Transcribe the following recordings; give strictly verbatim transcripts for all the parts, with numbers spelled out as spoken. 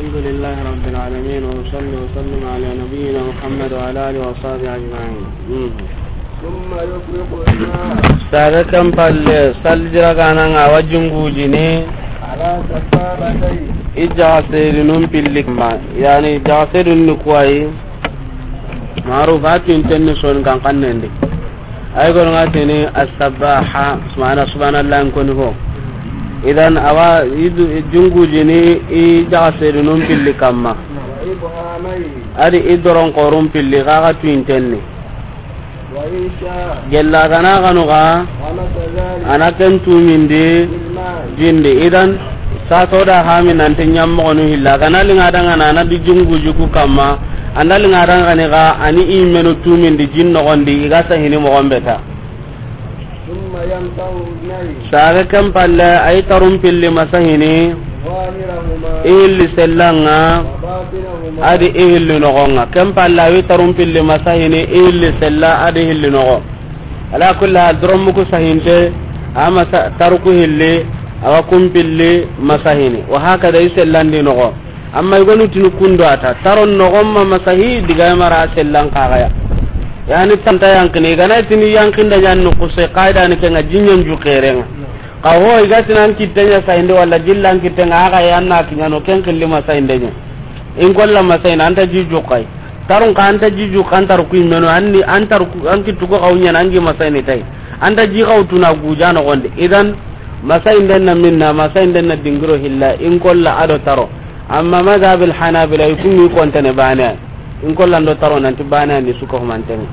الحمد لله رب العالمين، وأصلي وأسلم على نبينا محمد وعلى آله وصحبه أجمعين. مم. ثم يفرغ الماء. Saage ken palle, sallira ga na ŋa wa jungujini. على سبابتيه. I jaga seedinun pilli kamma, yani jaga seedinun ni kuwayi. Maruf a tinten ni son kan kannen di. Ay gono ŋa tini as-sabbaha, subhana, subhanallah, n koni ho. Idan awa, i du-, i jungujini, i jaga seedinun pilli kamma. Adi i doron korun pilli, kaga tuinten ni. Gella gana ganu ga, a na ken tumindi, jindi. Idan, sa to da hami nanti ɲammogonu hilla. Gana linga danga na, na di junguji ku kamma. Anda linga danga ni ga, ani i menu tumindi jin nogondi, i ga sahini mogon beta. Saage ken palle, ay tarun pilli masahini, i hilli sellanga, adi i hilli nogonga. Ken palle, ay tarun pilli masahini, i hilli sella, adi i hilli nogo. Ala kulli hal, doromuku sahinte, a masa-, taruku hilli, awa kun pilli masahini. Wa hakada i sellandi nogo. Amma i gonu tinu kundo ata. Taron nogon ma masahi diga mara sellan kagaya. Yani tanta yankini, i gana tini yankinda ɲan no kuse, kaida ni kenga jinyan ju kerenga. Ka ho i ga tinan kittenya sahinde wala jillan kittenga aga yanna kinyano ken killi masahinde ɲa. In kolla masahina anta jiju kai. Tarun ka anta jiju kan tar ku imeno anni antar ku an kittu ko kawnya nangi masahini tai. Anta ji kawtuna guja no gonde. Idan masahinden na minna, masahinden na dingiro hilla, in kolla ado taro. Amma madhabil hanabila i kungi kontene bane. In kolla ndo taro nanti bane ni suko humanten.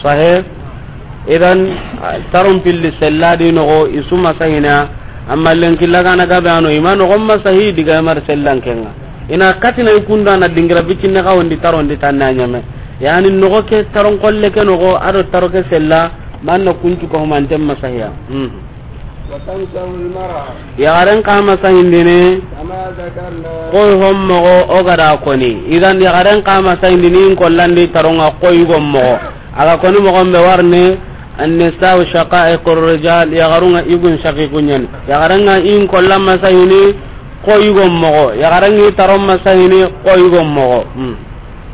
Sahih? Idan, taron pilli sella di nogo, i su masahina, amma lenki lagana gabe ano, i ma nogon masahi diga mar sellan kenga. Ina katina i kunda na dingira bicinne ka wondi taron di tanna ɲame. Yani nogo ke taron kolle ke nogo, ado taro ke sella, manna kuncu ko humanten masahiya. Hmm. وتمسح المرأة. Yaxaren ka masahindini. كما ذكرنا. Koy hommogo o gada koni. Idan yaxaren ka masahindini in kollandi taronga koy gommogo. Aga koni mogon be warni, النساء شقائق الرجال, yaxarunga igun shaqiqu ɲani. Yaxarenga in kollan masahini koy gommogo. Yaxarenga i taron masahini koy gommogo. Hmm.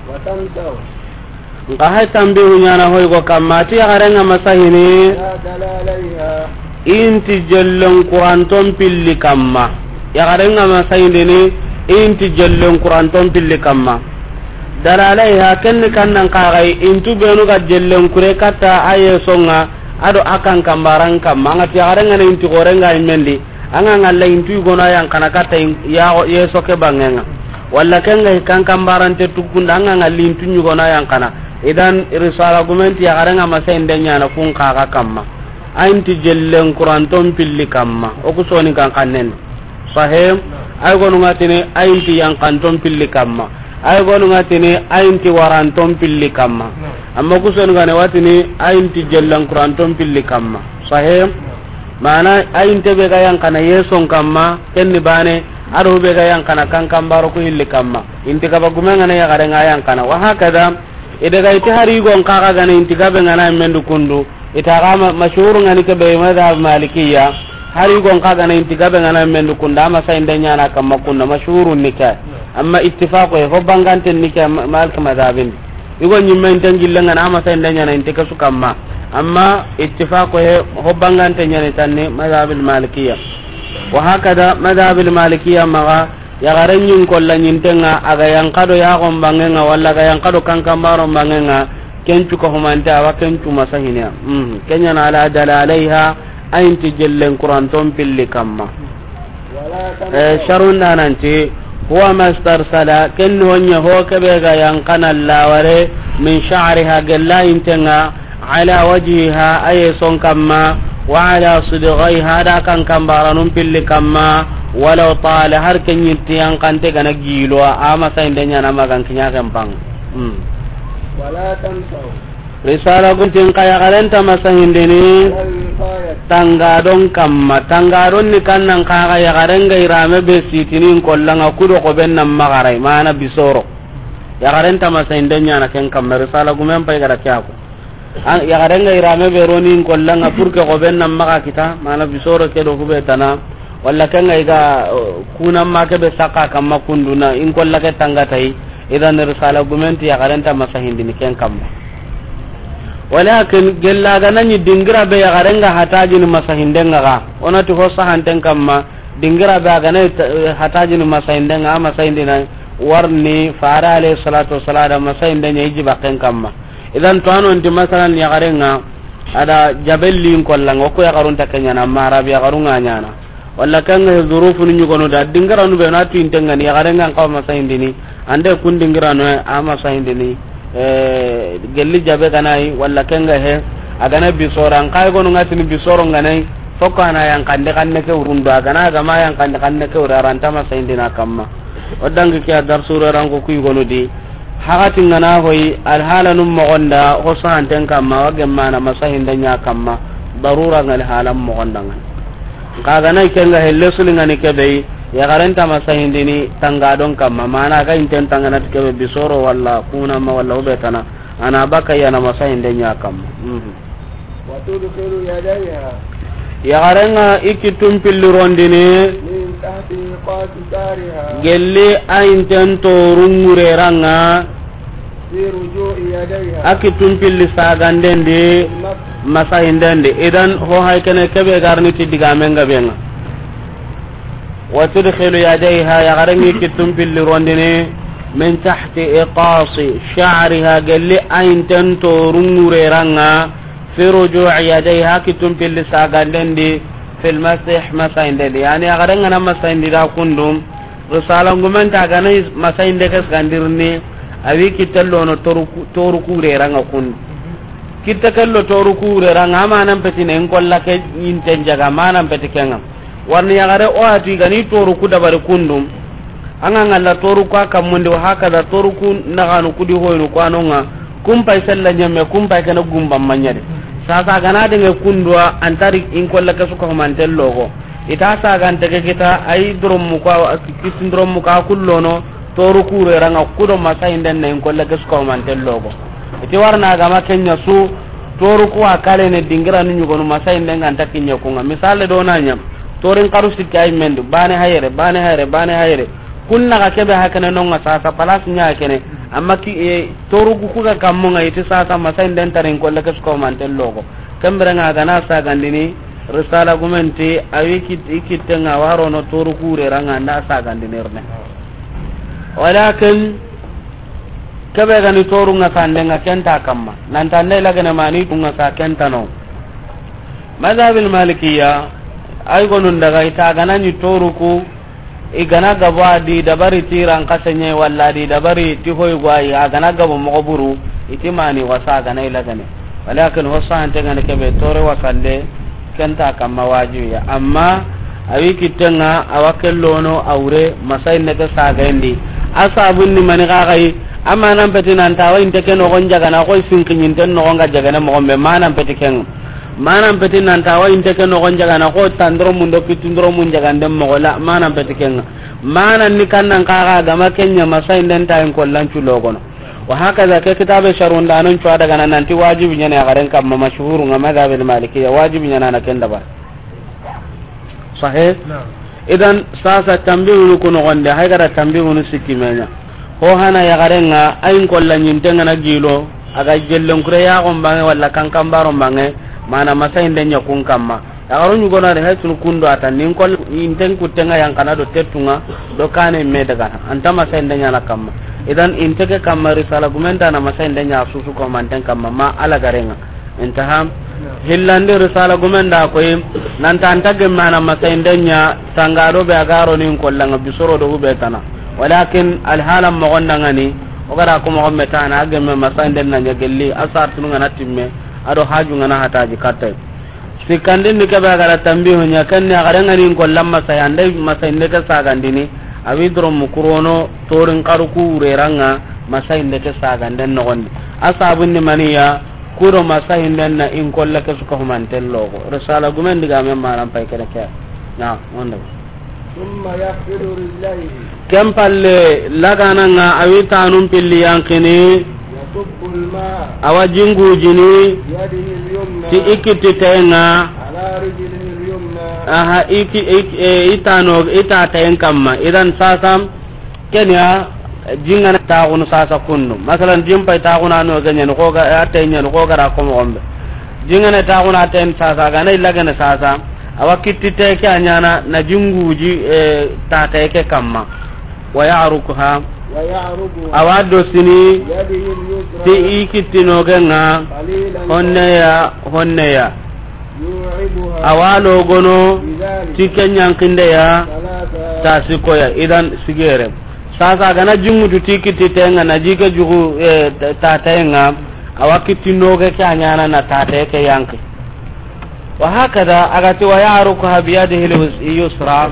وتمسح. Nka hay tambihu ɲana hoy go kamma, ti yaxarenga masahini, لا دلاليها. Inti jellen kuranton pilli kamma. Yaxarenga masahindini, inti jellen kuranton pilli kamma. Dalalaiha, kenni kannan kaxay, intu benu ga jellen kure katta a yesonga, ado a kan kambaran kamma. Anga ti yaxarenga na inti gorenga imendi. Anga ngalla intu igono yan kana katta in-, ya, yeso ke bangenga. Walla kenga hikan kambarante tukunda anga ngalli intu ɲugona yan kana. Idan risala gumenti yaxarenga masahinde ɲana kun kaga kamma. Ayinti jellen kuranton pilli kamma. O ku soni kan kannen. Sahih? Ay gonu ngatini ayinti yankanton pilli kamma. Ay gonu ngatini ayinti waranton pilli kamma. Amma ku soni gane watini ayinti jellen kuranton pilli kamma. Sahih? Mana ayinte be ga yankana yeson kamma, kenni bane, ado be ga yankana kankambaro ku hilli kamma. Inti gaba gume ngana yaxare nga yankana. Wa hakada, i daga iti hari gon kaga gana inti gabe ngana mendu kundu. Ita gama mashhur ngani ke be madhab malikiya. Hari gon kaga na inti gabe ngana mendu kunda, ama sa inda ɲana kamma kunda mashhurun nika. Amma ittifaqo e ho bangante nika ma-, malik madhabin. Igo ɲimme inten gillenga na ama sa inda ɲana inte kasu kamma. Amma ittifaqo he ho bangante ɲani tanni madhabil malikiya. Wa hakada madhabil malikiya maga yaxaren ɲin kolla ɲintenga aga yankado yaxon bangenga walla aga yankado kankambaron bangenga kencu ko humante awa kencu masahiniya. Mhm. Kenyana ala dalalaiha ayinti jellen kuranton pilli kamma. Eh, sharun dananti, huwa mastarsala, ken honye ho kebe ga yankana laware, min sha'riha gella intenga, ala wajhiha aye son kamma, wa ala sidghaiha da kankambaranun pilli kamma, walaw tala har kenyinti yankante gana gilo, ama sa indenya na magan kinya kempang. Hmm. ولا تمسح. Risala guntin ka yaxaren ta masahindini tangadon kamma. Tangadon ni kannan kaga yaxaren ga irame be sitinin kollanga kudo ko ben nan magarai mana bisoro. Yaxaren ta masahinden ɲana ken kamma risala gumen pay gara kyako. An yaxaren ga irame be ronin kollanga pour que ko ben nan maga kita mana bisoro ke do kube tana. Walla ken ga i ga, eh, kunan ma ke be saka kamma kundu na in kolla ke tanga ta yi. Idan risala gumen ti yaxaren nta masahindini ken kamma. Walakin gella ga na ɲi dingira be yaxaren ga hatajini masahinden ŋa ga. O na ti ho sahanten kamma dingira be a ga na, eh, hatajini masahinden ŋa, a masahindina warni fare alayhi salatu wassalam da masahinden ɲa i jibaken kamma. Idan to a no nti masalan yaxaren ŋa a da jabellin kollan ŋa, o ku yaxarun ta ke ɲaana, amma Arabi yaxarun ŋa ɲaana. Walla ken ga he zurufunu ɲugonu da, dingiranu be na tu inten ŋa ni, yaxaren ŋa n xawa masahindini, an da kun dingiranu a masahindini, eh, gelli jabe ga na yi, walla ken ga he, a ga na bisoro, an xa yi gonu ŋa tini bisoro ga na yi, foko a na yankandi xanne ke wurun do, a ga na ga ma yankandi xanne ke wuri, a ra nta masahindina kamma. O dangi ke a darsu ro ran ko ku yi gonu di, Hakati ŋa na hoyi, alhalanun moxon da, ho sahanten kamma, wa gemmana masahinden ɲa kamma, darura ŋa alhalan moxon da ŋa. Xa ga na ken ga helle suli ŋa ni ke be yi, yaxaren nta masahindini tangadon kamma, mana ga inten tangana ti ke be bisoro walla kunanma walla o be tana, a na baka yana masahinden ɲa kamma. Mhm. وتدخل يديها Yaxaren ŋa i kittun pilli rondini من تحت إبط شعرها gelli a inten torun ŋureran ŋa في رجوع يديها a kittun pilli saganden di في المسح masahinden di. Idan ho hay kene ke be ga ri ni ti digamen ga be ŋa. وتدخل يديها yaxaren ŋa i kittun pilli rondini من تحت إبط شعرها gelli a inten torun ŋureran ŋa في رجوع يديها kittun pilli saganden di في المسح masahinden di. Yani yaxaren ŋa na masahindi da kundu, risala gumen ti a ga na masahinde ke sagandirni, a wi kitte lono toru ku-, toru kureran ŋa kundu. Kitte ke lo toru kureran ŋa, a manan peti na in kolla ke inten jaga, manan peti ke ŋa. Warni yaxare o a ti ga ni toru ku dabari kundu. An ga ŋalla toru ku a kammundi, wa hakaza toru ku naxanu ku di hoyinu ku a no ŋa, kun pay sella ɲemme, kun pay kene gumban ma ɲa di. Sasa a ga na denge kundu wa, an ta ri in kolla ke su ka humanten logo. I ta sagante ke kita, a yi doromu ku a, kisin doromu ku a kullono, toru kureran ŋa ku do masahinden na in kolla ke su ka humanten logo. I ti warna ga ma ken ɲa su, toru ku a kale ne dingiranu ɲugonu masahinden ga nta kiɲe ku ŋa. Misale do na ɲa, torin xaru sikki a yi men di, bane hayre, bane hayre, bane hayre. Kun na ga ke be hakene no ŋa sasa, place ɲa kene. Amma ki, eh, toru ku ku ga kammu ŋa i ti sasa masahinden ta ri in kolla ke su ka humanten logo. Ken bire ŋa a ga na sagandini, risala gumen ti, a wi kit-, i kitte ŋa wa ro no toru kureran ŋa nda sagandini rene. Walakin, ke be ga ni toru ŋa sanden ŋa ken nta kamma. Nan ta nda i lagene mani tu ŋa sa ken nta no. Madhabil Malikiya, ay gonun daga i ta ga na ɲi toru ku, i ga na gabo a di dabari ti ran xase ɲa walla a di dabari ti hoy gwayi, a ga na gabo moxo buru, i ti mani wasa a ga na i lagane. Walakin ho sahanten ŋa ni ke be tore wasande, ken nta kamma wajibi ya. Amma a wi kitte ŋa, a wa ke lono a wure, masahinde ke sagayen di. A sabun ni mani xa xa yi, a manan peti nan ta wa inte ke noxon jagana, xo i sinkiɲinten noxon ga jagane moxon be, manan peti ke ŋa. Manan peti nan ta wa inte ke noxon jagana, xo tandoromun do kittundoromun jaganden moxo la, manan peti ke ŋa. Manan ni kannan xa xa ga ma ke ɲa masahinden ta in kollan cu logono. Wa hakaza ke kitabe sharhun da non cu a daga na nan ti wajibi ɲa ni yaxaren kamma mashhuru ŋa madhabil Malikiya, wajibi ɲa na na ken dabari. Sahih? Naam. Idan sasa tambihunu ku noxon di, hay ga da tambihunu sikki me ɲa. Ho hana yaxaren ŋa, a in kolla ɲinten ŋa na gilo, a ga jellen kure yaxon bange walla kankan baron bange, mana masahinden ɲa kun kamma. Yaxaru ɲugonu a di hay tunu kundu a ta, ni in kol-, inten kutten ŋa yankana do tettun ŋa, do kane me daga na. A nta masahinden ɲa na kamma. Idan inte ke kamma risala gumen ta na masahinden ɲa susu ko manten kamma, ma a lagaren ŋa. Intaha. Hillandi risala gumen da koyi, nan ta a nta gemme a na masahinden ɲa, tangado be a ga ro ni in kolla ŋa bisoro do hube tana. Walakin alhalan moxon da ŋa ni, o ga da ko moxon me ta na a gemme masahinden na ɲa gelli, a sartunu ŋa na timme, a do haju ŋa na hataji katte. Sikkandin ni ke be a ga da tambihu ɲa, ken ni a ga da ŋa ni in kollan masahi, an da masahinde ke sagandini, a wi doromu kurono, torin xaru ku wureran ŋa, masahinde ke saganden noxon di. A sabun ni mani ya, Ku do masahinden na in kolle ke su ka humanten logo. Risala gumen digamen manan pay kene ke. Na, onda. ثم يغسل رجليه. Ken palle, laganan ŋa a wi tanun pilli yankini. يصب الماء. A wa jingujini. بيده اليمنى. Ti i kittiten ŋa. على رجله اليمنى. Aha, i ki, i, e, i tano, i tatayen kamma. Idan sasa, kenya, jingana taxunu sasa kundu. Masalan, jin pay taxunu a noge ñani, xo ga, a taye ñani, xo ga ra ko moxo be. Jingana taxunu a tayen sasa, gana i lagene sasa. Awa kitti te ke a ñana, na jinguji, e, tataye ke kamma. Wa ya'rukuha. ويعرقها. Awa dosini, بيده اليسرى. Ti i kitti noge nga, قليلا. Honne ya, honne ya. يوعبها. Awa logono, بذلك. Ti ke ñankinde ya, ثلاثا. Ta sikko ya, idan sigere. Sasa gana jingutu ti kitti tenga na jike jugu, e, ta, tataye nga, awa kitti noge ke a ñana na tataye ke yanki. Wa hakada, a ga ti, wa ya'rukuha biyadihi al-yusra.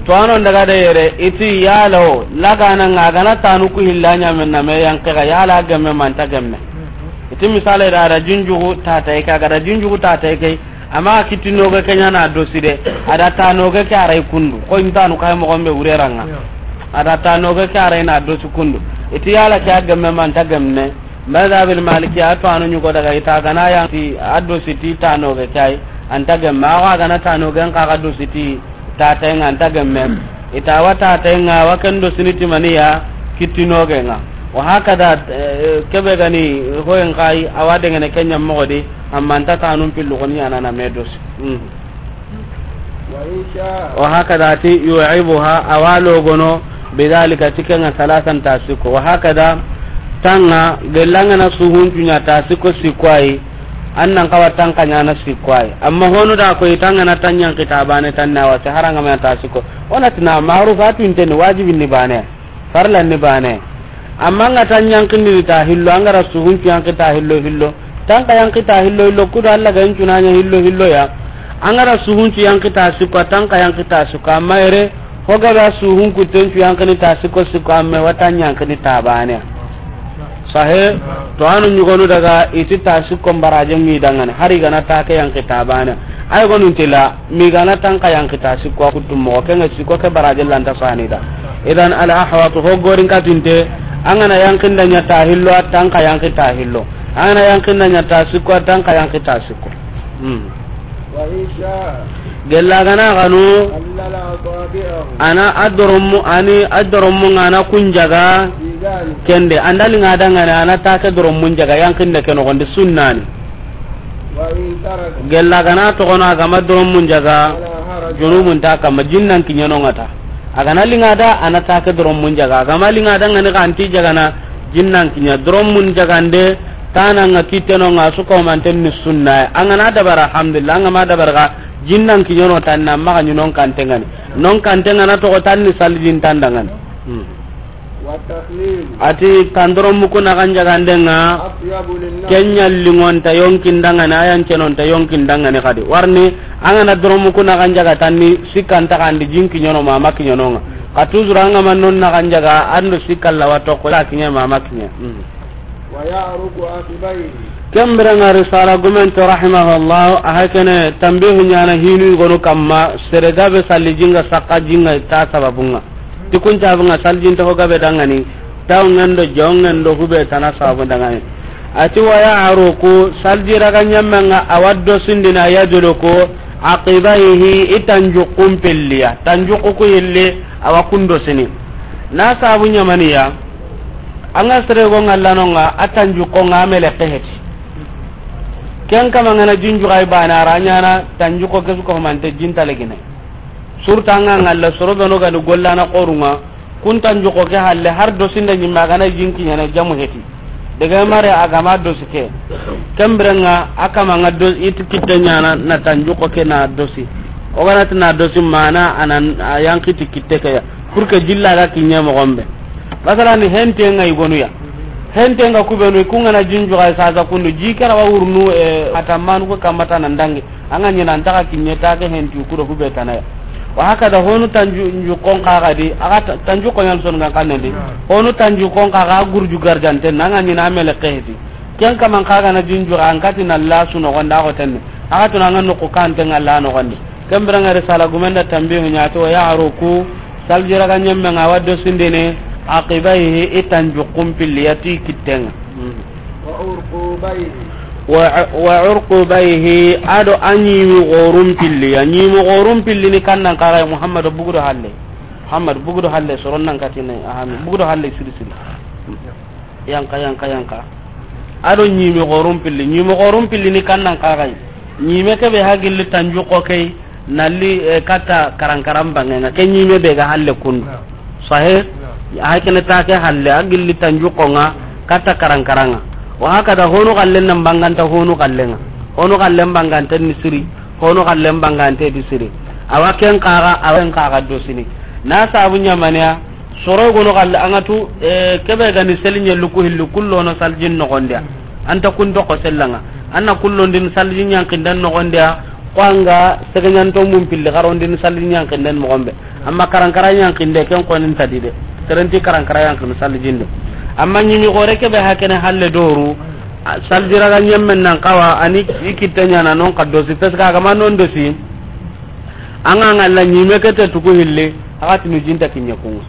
To a no daga da yere, i ti yala o, lagana nga gana tanu ku hilla ñamen na me yanke ga, yala gemme manta gemme. I ti misale da, da jinjugu tataye ke, a ga da jinjugu tataye ke, amma kitti noge ke ñana a dosi de, a da ta noge ke a ray kundu. Xo i ntanu kay moxo be wureranga. A da ta noge ke a ray na a dosi kundu. I ti yala ke a gemme manta gemme. Madhabil Maliki a to a no ñugo daga i ta gana yanki a dosi ti ta noge ke ay, anta gemme, a wa gana ta noge nga ga dosi ti tataye nga anta gemme. I ta wa tataye nga wa ken dosini ti mani ya, kitti noge nga. Wa hakada, e, kebe gani hoyen kay, awa dengene ke ña moxo di, amma anta tanun pillu xoni ñana na me dosi. Mm. وإن شاء. Wa hakada ti yu'ibuha, awa logono, bidhalika, ti ke nga, salasan, ta sikko. Wa hakada, tanga, gellanga na suhuncu ña ta sikko, sikko ay, an nan xawa tanka ñana sikko ay. Amma honu da ko i tanga na tan ñanki ta bane tan na wa, ti haranga me ta sikko. Wona ti na ma'ruf a tu inte ni, wajibin ni bane. Farlan ni bane. Amma nga ta ñankini ta hillo, an ga ra suhuncu yanki ta hillo hillo. Tanka yanki ta hillo hillo, kudo Alla ga incu na ña hillo hillo ya. An ga ra suhuncu yanki ta sikko, tanka yanki ta sikko. Amma ere, ho ga ra suhun kuttencu yankini ta sikko sikko, amma wa ta ñankini ta bane. Sahe, to a no ñugonu daga i ti ta sikko baraje ngi dangane, hari gana ta ke yanki ta bane. Ay gonun tila. Migana tanka yanki ta sikko a kuttu moxo, ke nga sikko ke baraje lanta sani da. Idan al ahwatu ho gorin katinte, an ga na yankinda ña ta hillo, a tanka yanki ta hillo. An ga na yankinda ña ta sikko, a tanka yanki ta sikko. Hmm. وإن شاء. Gella gana ganu. خلل أصابعه. Ana a dorommu, ani a dorommu nga na kun jaga. في ذلك. Kende, an da linga dangane, ana ta ke dorommun jaga, yankinda ke noxondi sunnani. وإن ترك. Gella gana toxono a gama dorommun jaga, فلا حرج. Junubun ta kamma, jinnan kiñeno nga ta. A gana linga da, ana ta ke dorommun jaga. A gama linga da ngani xa anti jagana, jinnan kiña. Dorommun jagande, tana nga kitteno nga su ko manten ni sunna. An gana dabara, alhamdulillah, an gama dabara ga, jinnan kiñeno tanna, maxa ñi non kante ngani. Non kante ngana toxo tanni salijin tandangani. Hmm. والتخليل. Ati tandoro muku na ganja gandenga. أطيب للنفس. Kenya lingonta yonkin dangane, ayan cenonta yonkin dangane kadi. Warni, an ga na doro muku na ganja ga tanni, sikkan ta kandi jinki nyono mama ki nyononga. Ka tuzura an ga mannon na ganja ga, ando sikkan lawa tokko, ya kinya mama kinya. Hmm. ويعرق عقبيه. Kembere nga risala gumente rahimahullah, a hakene tambihu nyana hinu gonu kamma, sere gabe salli jinga sakka jinga ta sababunga. Ti kun cabunga saljinte ho gabe dangani, taw ngendo, jo ngendo, hube tana sabu dangani. Ati wa ya'ruku, salji raga nyammenga awa dosindina, yadluku aqibaihi, i tanjuqun pelliya, tanjuqu ku yille awa kun dosini. Na sabu nyamaniya, anga sere go ngallanonga, a tanjuqonga mele keheti. Ken kama ngana jinjugai bana ranyana, tanjuqo kesu ko mante jinta legine. Surta nga ngalla soro beno gani gollana qorunga, kun tanjuqo ke halle har dosinda nyimma gana jinki nyana jamu heti. Daga mare agama dosi ke. Kembere nga akama nga do-, iti kitte nyana na tanjuqo ke na dosi. O gana tina dosi mana anan a yanki ti kitte ke ya. Pour que jilla ga kinye mo gombe. Masalan, hente nga igonu ya. Hente nga kubenu, ku ngana jinjugai sasa kundu, jikara wa urnu, e, atamanu ko kamata na ndangi. Anga nyina antaka kinye take hentu kudo hube tanaya. Wa hakada honu tanju, nju kon kaga di, aga ta-, tanju ko nyal son nga kanendi. Honu tanju kon kaga gurju garjante, nanga nyina amele kehti. Ken kaman kaga na jinju ankati na la suno gonda ko tenne. Aga tuna nga no ko kante nga la no gonde. Kembere nga risala gumenda tambihu nyati wa ya'ruku, saljira ga nyemme nga waddo sindene, aqibaihi, i tanju kumpilli yati kittenga. Hmm. وعرقوبيه. Wa, wa urqubayhi, a do a ɲimi xorun pilli ya. Ɲimi xorun pilli ni kannan kaxay, Muhammadu bugudo halle. Muhammadu bugudo halle, soron nan katine, ahami, bugudo halle siri siri. Yanka, yanka, yanka. A do ɲimi xorun pilli, ɲimi xorun pilli ni kannan kaxay. Ɲime kebe ha gilli tanju xo key, nalli, eh, katta karankaran bangenga. Ke ɲime be ga halle kundu. Sahe? A kene ta ke halle, a gilli tanju xonga, katta karankaranga. Wa hakada honu xallen nan banganta honu xallenga. Honu xallen banganta ni siri, honu xallen banganta di siri. Awa ken kaga, awa ken kaga do sini. Na sabu ɲamaniya, soro gono xalle anga tu, eh, kebe gani seli ɲellu ku hillu kullono saljin noxondiya. Anta kun doko sellanga. Anna kullondin saljin ɲankinden noxondiya. Ko anga segeɲanto mun pilli xarondin saljin ɲankinden moxonbe. Amma karankara ɲankinde ken konin tadi de. Serenti karankara ɲankini saljinde. Amma ɲimi xore kebe hakene halle doru. A, saljiraga ɲemmen nan kawa ani i kitte ɲana non ka dosi. Parce que a gama non dosi. Anga ngalla ɲime kete tuku hilli. Hakatinu jinta kiɲe kunga.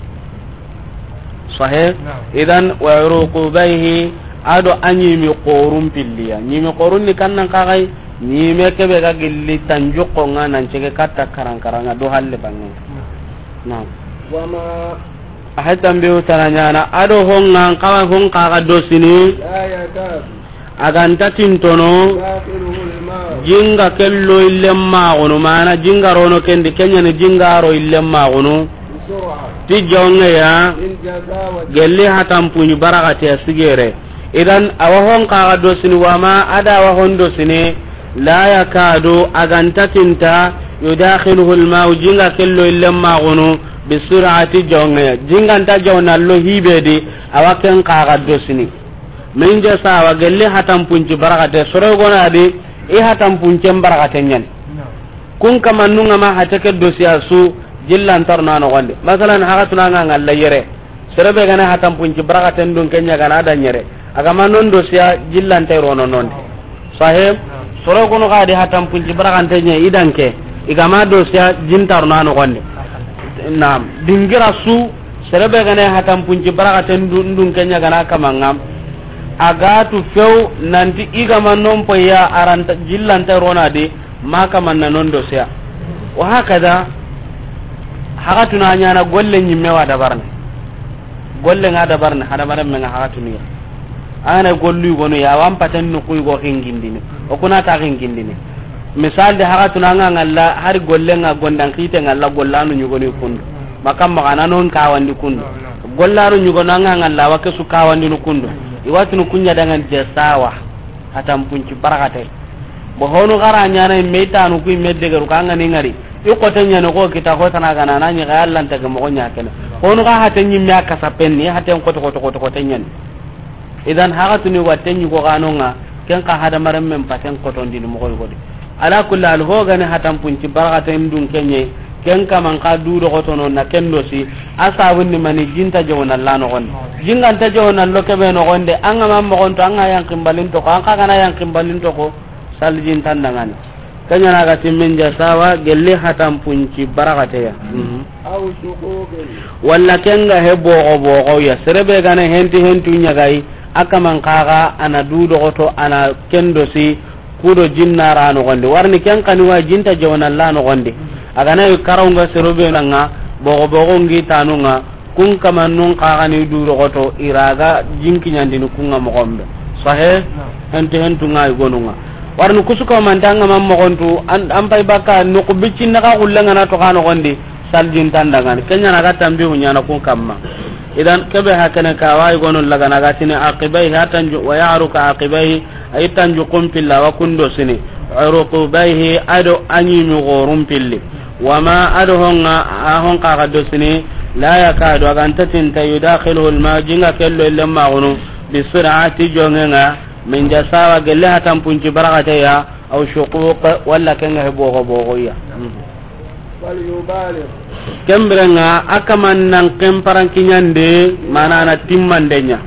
Sahe? Naam. Idan, wa uruqubayhi, a do a ɲimi xorun pilliya. Ɲimi xorun ni kannan kaxay, ɲime kebe ga gilli tanju xonga nan cege katta karankaranga do halle bange. Naam. Naam. Wa ma. A hay tambihu tana ɲana, a do honga, kawa hon kaga do sini. La yakadu. A ganta tintono, jinga kello illen maxunu, mana jinga rono kendi, kenyani jinga ro illen maxunu, ti jongeya, gelli hatanpuɲi baraxateya sigere. Idan, awa hon kaga dosini, wama a da awa hon dosini, la yakadu, a ganta tinta, yudakhiluhu lmau, jinga kello illen maxunu, bisurati jongeya. Jinganta jawna lo hibedi, awa ken kaga dosini. Min jasawa gelli hatanpunci barakate, soro gona di, i hatanpuncen barakate ɲani. Kun kamannunga ma hate ke dosiya su jillantar na nogondi. Masalan, haga tunanga ngalla yere. Serebe gana hatanpunci barakaten dun kenya gana da ɲere. Aga ma non dosiya jillante rono nondi. Sahe, soro gono ga di hatanpunci barakante ɲe idanke. Igama dosiya jintar na nogondi. Naam, dingira su, serebe gane hatanpunci barakaten du-, ndun kenya gana kamanga. A ga tu few nanti igama non poya aranta jillante rona di, ma kamanna non dosiya. Wa hakada, haga tuna ɲana golle ɲimme wa dabarne. Golle nga dabarne, hadamaren menga haga tuniya. Ana gollu gono ya, wan paten no kuy go hingindini. O kuna ta hingindini. Misal de haga tuna nga ngalla, hari golle nga gondan kite ngalla gollanu ɲugoni kundu. Makam magana non kawandi kundu. Gollanu ɲugono nga ngalla wa kesu kawandi no kundu. Iwatunu kunya dangan jesawa. Hatanpunci barakate. Bo honu gara ɲana me tanu ku me degeru kanga ni ngari. I kote ɲana ko kita ko tana gana na ɲi ga Allah nta ga mo ɲa kene. Honu ga hate ɲimme a kasa penni, haten koto, koto, koto, kote ɲani. Idan haga tuni watte ɲi ko ganonga, ken ka hadamaren men paten kotondini moxo yogodi. Ala kulli hal, ho gani hatanpunci barakaten dun kenye, ken kaman ka du dogotono na ken dosi, a sabunni mani jinta jawna la nogondi. Jinganta jawna lo kebe nogonde, anga ma mogonto, anga yankin balinto ko, anga gana yankin balinto ko, saljin tandangani. Kenya na ga timmen ja sawa, gelli hatanpunci barakateya. Mhm. Aw shuquqin. Walla kenga he bogo bogo ya. Serebe gana henti hentu ɲagai, a kaman kaga ana du dogoto ana ken dosi, kudo jinna ra nogondi. Warni ken kani wa jinta jawna la nogondi. A gana yi karonga serebe nanga, bogo bogo ngi tanunga, kun kamannun kagani du dogoto iraga jinki ɲandini kunga mogonbe. Sahe? Naam. Henti hentu ngai gonunga. Warni kusuka mantanga man mogontu, an, an pay baka nuku biccinna ka gullanga na to ka nogondi, saljin tandangani. Kenya na ga tambihu ɲana kun kamma. Idan kebe hakene ka wa i gonu lagana ga tini aqibayhi, hatanju, wa ya'ruka aqibayhi, ay tanju kun pilla wa kundo sini. Uruqubayhi, ado a ɲimi gorun pilli. Wama ado honga, a hon kaga dosini, la yakadu, a ganta tinta, yudakhiluhu lma, jinga kello ille magunu, bisurati jongenga, min jasawa gelle hatanpunci barakateya, aw shuquq, walla kenga he bogo bogo ya. Falyubaligh. Kembirenga, a kaman nan ken parankiɲande, mana na timmandenya.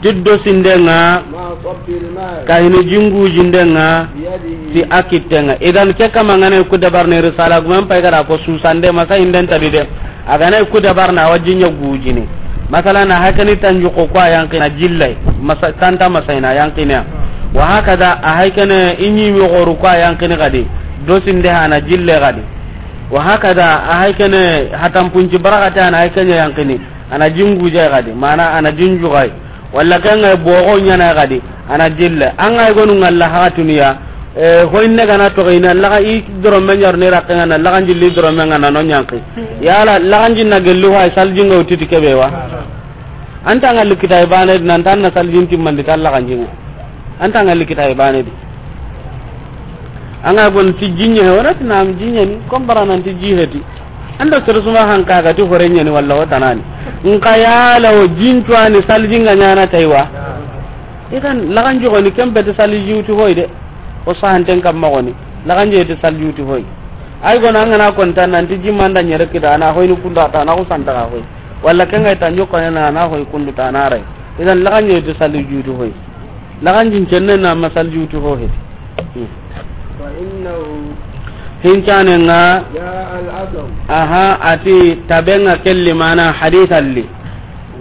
Tiddo sindenga, ma sabbil ma, kahini jingujindenga, biyadihi, ti a kittenga. Idan ke kama ngana ku dabarne risala gumen pay gara ko susande masa inden tabide. A gana ku dabarna wa jinya gujini. Masala na hakani tanju ko kwa yanqina jillai. Masa tanta masa ina yanqina. Wa hakada, a hay kene i ɲimi xoru ko a yanqini xadi, do sinde hana jille xadi. Wa hakada, a hay kene hatanpunci barakate hana hay kene yanqini, ana jinguje xadi, mana ana jinjuxay. Walla kenga boxo ɲana xadi, ana jille. Anga gonu ngalla haxatuniya, e, hoyne gana toxeyna, laxa i doromme ɲarni raqqenga na, laxan jilli doromme nga na no ɲanqi. Yala, laxan jinna gelli hay saljinga wutiti kebe wa? Anta nga likita ibane di, nanta na saljin timmandi ta laxan jinga. Anta nga likita ibane di. Anga gon ti jinye he, wala ti nam jinye ni, kom bara nan ti jiheti. Ando sere suma hanka ga ti hore ɲani walla wata nani. Nka yala o jintuani saljinga ɲana taywa. Idan laxan jogoni kembe ti salji wuti hoy de. O sahanten kamma goni. Laxan je ti salji wuti hoy. Ay gona ngana konta nan ti jimanda ɲere kita, ana hoyni kunda ta na ko santa ga hoy. Walla kenga ta ɲokone na, ana hoy kundu ta na ray. Idan laxan je ti salji wuti hoy. Laxan jin cenne na masal juuti ho heti. Hmm. فإنه Hincanenga, جاء الأثر aha, ati tabenga kelli mana hadith alli.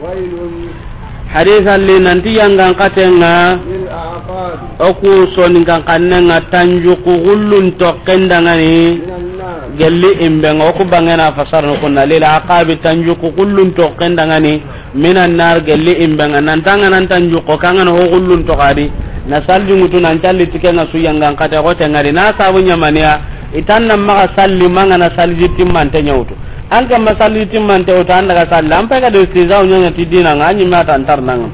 ويل Hadith alli nanti yangan katenga, للأعقاب oku soninkan kannenga tanjuku gullun tokken dangani, من النار. Gelli imbenga, oku bangena fasarnu kunna, lil aqabi tanjuku gullun tokken dangani, minan nar, gelli imbenga, nantanga nan tanjuko kangana ho gullun toxadi, na salli ŋutu nan calli tikenga su yangan kate xote ngari, na sabu ɲamaniya, itan nan maxa salli mangana salli timmante ɲawtu. An kamma salli timmante wutu, an daga salli, an pega de istizau ɲaɲa ti dinanga, an ɲimme ata antar nanga.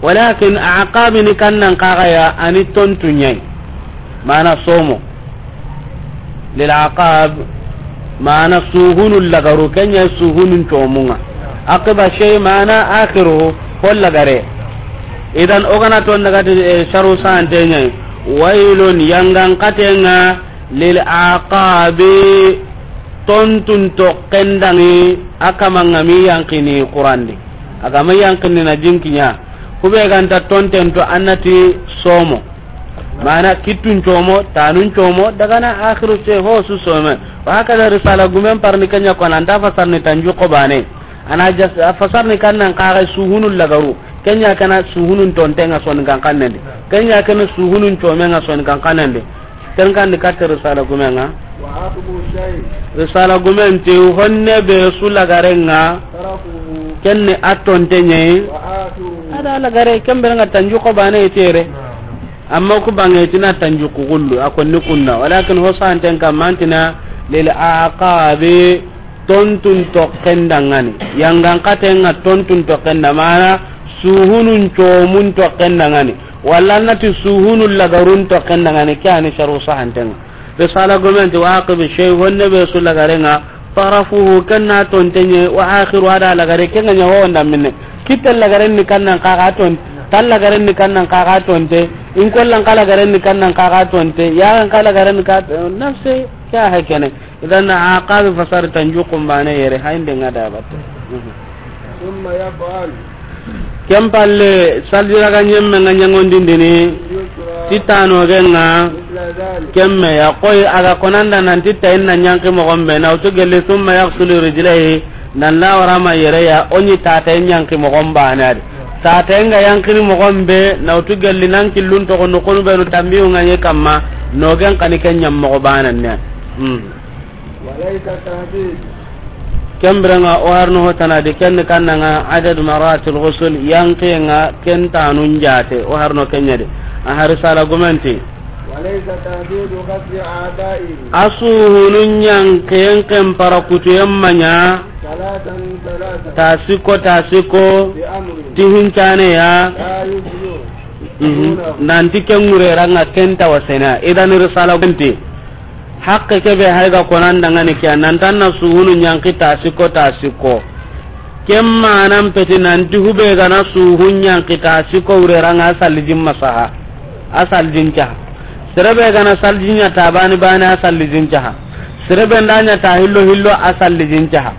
Walakin aqabini kannan kaxaya, ani tontu ɲai. Mana somo. Lil aqab, mana suhunu lagaru, kenya suhunun tomunga. Aqiba shay mana akhiru, ho lagare. Idan ogana ton daga ti, eh, sharu sante ɲai. Wailun yangan katenga lil aqabi, tontun to kendangi, akamanga mi yankini Qurandi. Agama yankini na jinkinya. Kube ganta tonten to annati somo. Mana kittun como, tanun como, dagana akhiru se ho su some. Wa hakada risala gumen parni kenya ko nan da fasarni tanjuko bane. Ana jas-, fasarni kannan kaga suhunun lagaru. Kenya kana suhunun tontenga soninkan kannendi. Kenya kana suhunun comenga soninkan kannendi. Ken kandi katte risala gumenga. وعقب الشيء Risala gumen ti honne be su lagarenga. طرفه Kenne a tontenye. وآخره Ada lagare kemberenga tanjuko bane itere. Amma ku bange tina tanjuku gullu, a konni kunna. Walakin ho santen kam mantina lil aqabi, tontun tokken dangani. Yangan katenga tontun tokken da mana, suhunun comun tokken dangani. Walla nati suhunun lagarun tokken dangani, ke ani sharu sahantenga. Risala gomenti wa aqibi shay, honne be su lagarenga, tarafuhu, kenna tontenye, wa akhiru, ada lagare, kenga nya ho nda minne. Kitta lagaren ni kannan kaga ton, tal lagaren ni kannan kaga tonte, in kollan kala garen ni kannan kaga tonte, yagan kala garen ni ka, nafse, kya hakene. Idan aqabi fasar tanjukum bane yere, hainde ngada batte. ثم يفعل Ken palle, saljiraga ɲemme nga ɲangondindini, اليسرى ti tanogenga, مثل ذلك kemme ya koy aga konanda nan ti tayin na ɲanki mogon be, na wutu gelli, ثم يغسل رجليه, nan la warama yere ya, o ɲi tataye ɲanki mogon bane adi. Tataye nga yankini mogon be, na wutu gelli nan killun togo nukunu benu tambiyu nga ɲe kamma, nogen kani ken ɲam mogo bane ne. Hmm. وليس التحديد. Ken birenga o harno ho tanadi, ken kannanga adad maratil ghusl, yankenga ken tanun jate, o harno kenyadi. A hari sala gumenti. وليس تحديد غسل أعضائه. Asuhunun yanken ken para kutuyen manya. ثلاثا ثلاثا. Tasiko, tasiko. بأمر. Tihincane ya. لا يجزئ. Mhm. دونه. Nanti ken ngure ranga ken tawasena. Idan risala gumenti. Hakke kebe hayga konan dangani kiya, nantan na suhunu ɲanki ta sikko, ta sikko. Ken manan peti nanti hube gana suhun ɲanki ta sikko wureranga a sallijin masaha. A sallijin caha. Serebe gana sallijin ɲa ta bani bani a sallijin caha. Serebe nda ɲa ta hillo hillo a sallijin caha.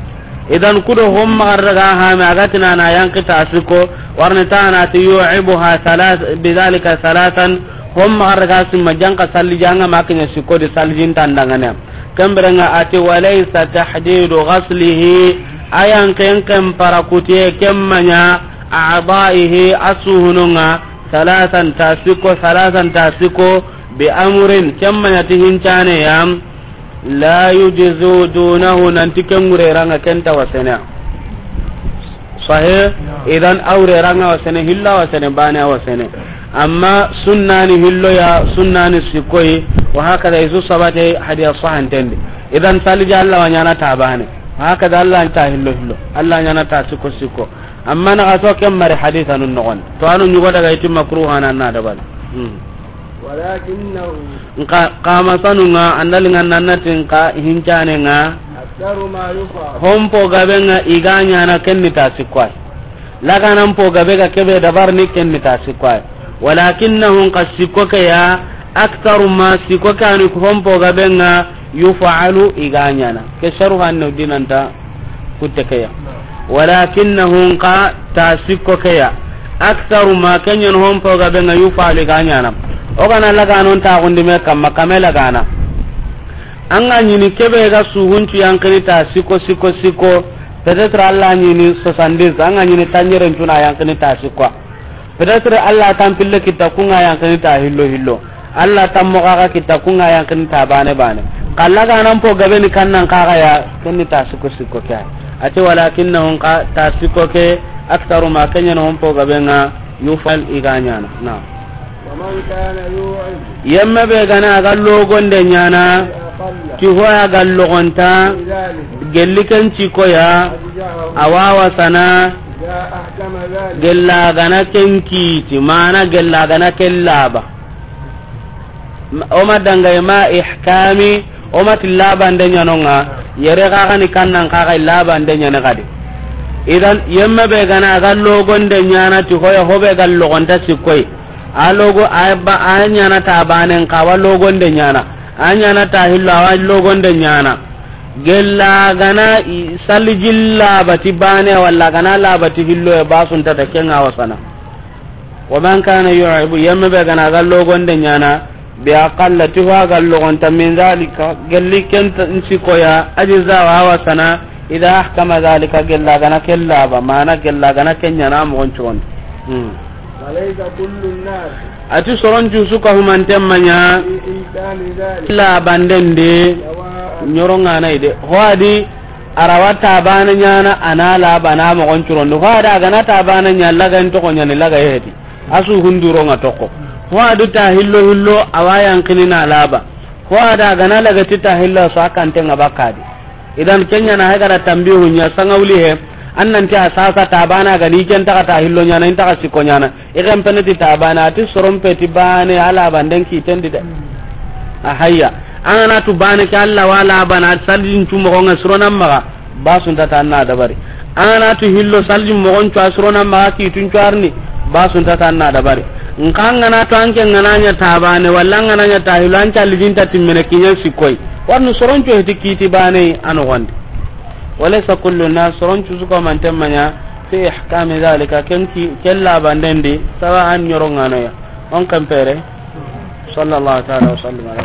Idan kudo hom magar daga hame agatina na yanki ta sikko, warni ta na ti yu'ibuha thalath, bidhalika thalathan, hom magar daga simma janka salli janga makinya sikko di sallijin tandangane. Kemberenga ati walaysa tahdidu ghaslihi, ayan ken ken para kutiye kemmanya a'dha'ihi asuhununga Salasan ta sikko, salasan ta sikko, bi amrin, ken ma ɲa ti hincane ya, la yujzu dunahu, nanti ken ŋureranga ken ta wasene. Sahih? Idan a wureranga wasene, hillo wasene, bane wasene. Amma sunnani hillo ya, sunnani sikkoyi, wa hakada isu sabate hadiya sahantendi. Idan saliji Allah wa ɲana ta bane. Wa hakada Allah ta hillo hillo. Allah ɲana ta sikko sikko. Amma na ga to ken mari hadithanun noxon. To anu ɲugo daga iti makruhana na dabal. Hmm. Walakinnahu. Nka, kama sanunga, andalinga nanati nka hincanenga. Aktharu ma yuf'al. Hompo gabenga i ga ɲana ken ni ta sikko ay. Laganan po gabe ga kebe dabar ni ken ni ta sikko ay. Walakinnahu, nka sikko ke ya, aktharu ma, sikko ke ani hompo gabenga, yuf'alu, i ga ɲana. Ke sharu hanne dinanta kutte ke ya. Walakinnahu, nka ta sikko ke ya, aktharu ma, ken ɲa ni hompo gabenga, yuf'alu, i ga ɲana. O gana laganon ta gundi me kamma, kame lagana. An ga ɲini kebe ga suhuncu yankini ta sikko, sikko, sikko. Peut-être Allah ɲini soixante-dix, an ga ɲini tanjeren cuna yankini ta sikko. Peut-être Allah tampille kitta kunga yankini ta hillo hillo. Allah tammoxaxa kitta kunga yankini ta bane bane. Xa laganan po gabe ni kannan kaxa ya, ken ni ta sikko sikko ke. Ati walakinnahu, nka ta sikko ke, aktharu ma, ken ɲa ni hompo gabenga, yuf'al, i ga ɲana. Na. Wa man kana yu'id. Yemme be gana a ga logonde ɲana, bi aqalla, ti hoya ga logonta, min dhalik, gelli ken sikko ya, ajza'ahu, a wa wasana. Idha ahkama dhalik. Gella gana ken kiti, mana gella gana ken laba. O ma dangay ma ihkami, o ma ti labande ɲanonga, yere kaxa ni kannan kaxa labande ɲane kadi. Idan, yemme be gana a ga logonde ɲana ti hoya hobe ga logonta sikkoy. A logo, a ba, a ɲana ta banen ka wa logonde ɲana. A ɲana ta hillo a wa logonde ɲana. Gella gana i, salijin labati bane walla gana labati hillo e basunta ta kenga wasana. Wa man kana yu'id, yemme be gana ga logonde ɲana, bi aqalla, ti ho ga logonta, min dhalika, gelli ken ta, sikko ya, ajza wa wasana, idha ahkama dhalika, gella gana ken laba, mana gella gana ken ɲana moxon curon. Hmm. Falaysa kullu an-nas. Ati soron cu su ka humanten ma ɲa. Fi imkani dhalik. Labanden de. Sawa'an. Ɲorongana ide. Ho adi, a ra wa ta bane ɲana, a na laba na moxon curon. Ho adi a gana ta bane ɲa, laga en toxo ɲani, laga heti. A su hunduronga toxo. Ho adi ta hillo hillo, a wa yankini na laba. Ho adi a gana laga ti ta hillo, so a kantenga bakadi. Idan ken ɲana hay gara tambihu ɲa sangawli he. An nan ti a sasa ta bana gani ken taxa ta hillo ɲana, in taxa sikko ɲana. I xen pene ti ta bane, ati soron pe ti bane, a labanden kitendi de. A hayya. An gana tu bane ke Allah wa labana, salijin cu moxonga suronan maxa, basunta ta na dabari. An gana tu hillo salijin moxon cu a suronan maxa, kitun cu arni, basunta ta na dabari. Nka an gana tu an ke gana ɲa ta bane, walla an gana ɲa ta hillo, an calijin ta timmene kiɲan sikkoy. Warni soron cu heti kiti bane, a noxondi. Walaysa kullu nas, soron cu su ka humanten ma ɲa, fi ihkami dhalika, ken ki, ken labanden di, sawa'an ɲorongano ya. On kan pere. Sallallahu ta'ala wa sallam ala